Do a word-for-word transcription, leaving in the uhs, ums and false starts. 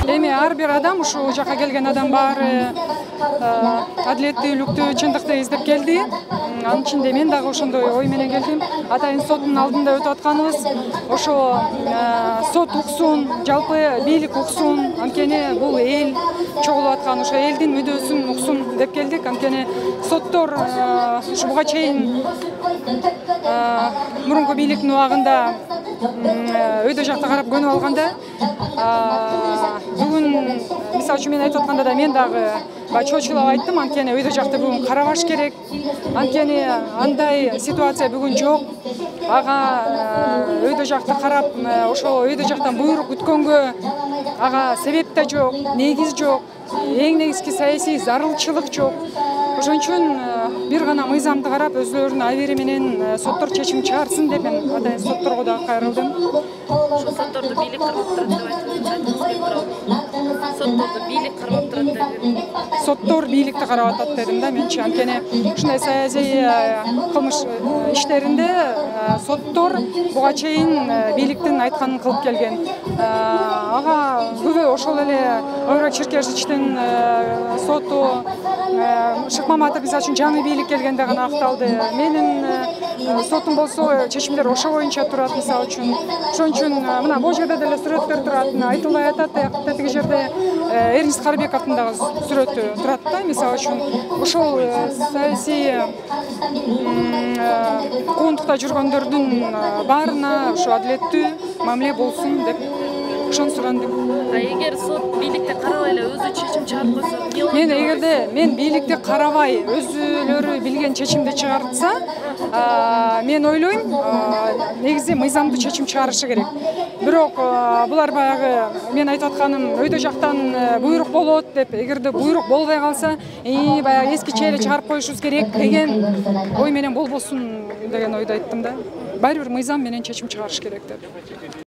Эми ар бир адам, ушул жака келген адам баары адилеттүүлүктү, чындыкты издеп келди. Анын ичинде мен дагы ошондой ой менен келдим. Атайын соттун алдында өтүп атканыбыз, ошо сот уксун, жалпы бийлик уксун, анткени бул эл чогулуп аткан, ошо элдин мүдөөсүн уксун деп келдик. Анткени соттор ушу буга чейин мурунку бийликтин убагында өйдө жакта карап көнүп алганда, бүгүн мисалы үчүн мен айтып атканда да мен дагы чочулап айттым, анткени өйдө жакта бүгүн карабаш керек. Анткени андай ситуация бүгүн жок. Ага өйдө жакта карап, ошо өйдө жактан буйрук күткөнгө ага себеп да жок, негиз жок. Эң негизги саясий зарылчылык жок. Ошон үчүн бир гана мыйзамды карап, өзлөрүнүн абийири менен соттор чечим чыгарсын деп мен атайын сотторго дагы кайрылдым. Ошо сотторду бийлик кармап турат деп айтып атасыз. Сотторду бийлик кармап турат деп. Соттор бийликти карап атат дедим да менчи. Анткени ушундай саясий кылмыш иштеринде соттор буга чейин бийликтин айтканын кылып келген. Ага күбө ошол эле Евро-Черкешичтин соту Шыкмаматов мисалы үчүн жаңы бийлик келгенде гана акталды. Менин сотум болсо чечимдер ошо боюнча турат мисалы үчүн. Ошон үчүн мына бул жерде деле сүрөттөр турат. Айтылбай атат, тиги жерде Эрнест Карбековдун дагы сүрөтү турат да, мисалы үчүн. Ошол саясий куугунтукта жүргөндөрдүн баарына ошо адилеттүү мамиле болсун деп ошону сурандым. А эгер сот бийликти карабай эле өзү чечим чыгарып койсо, эмне болот? Мен эгерде мен бийликти карабай өзүлөрү билген чечимди чыгартса, мен ойлойм, негизи мыйзамдуу чечим чыгарышы керек. Бирок булар баягы мен айтып атканым өйдө жактан буйрук болот деп, эгерде буйрук болбой калса, и баягы эскиче эле чыгарып коюшубуз керек деген ой менен болбосун деген ойду айттым да. Баары бир мыйзам менен чечим чыгарыш керек деп.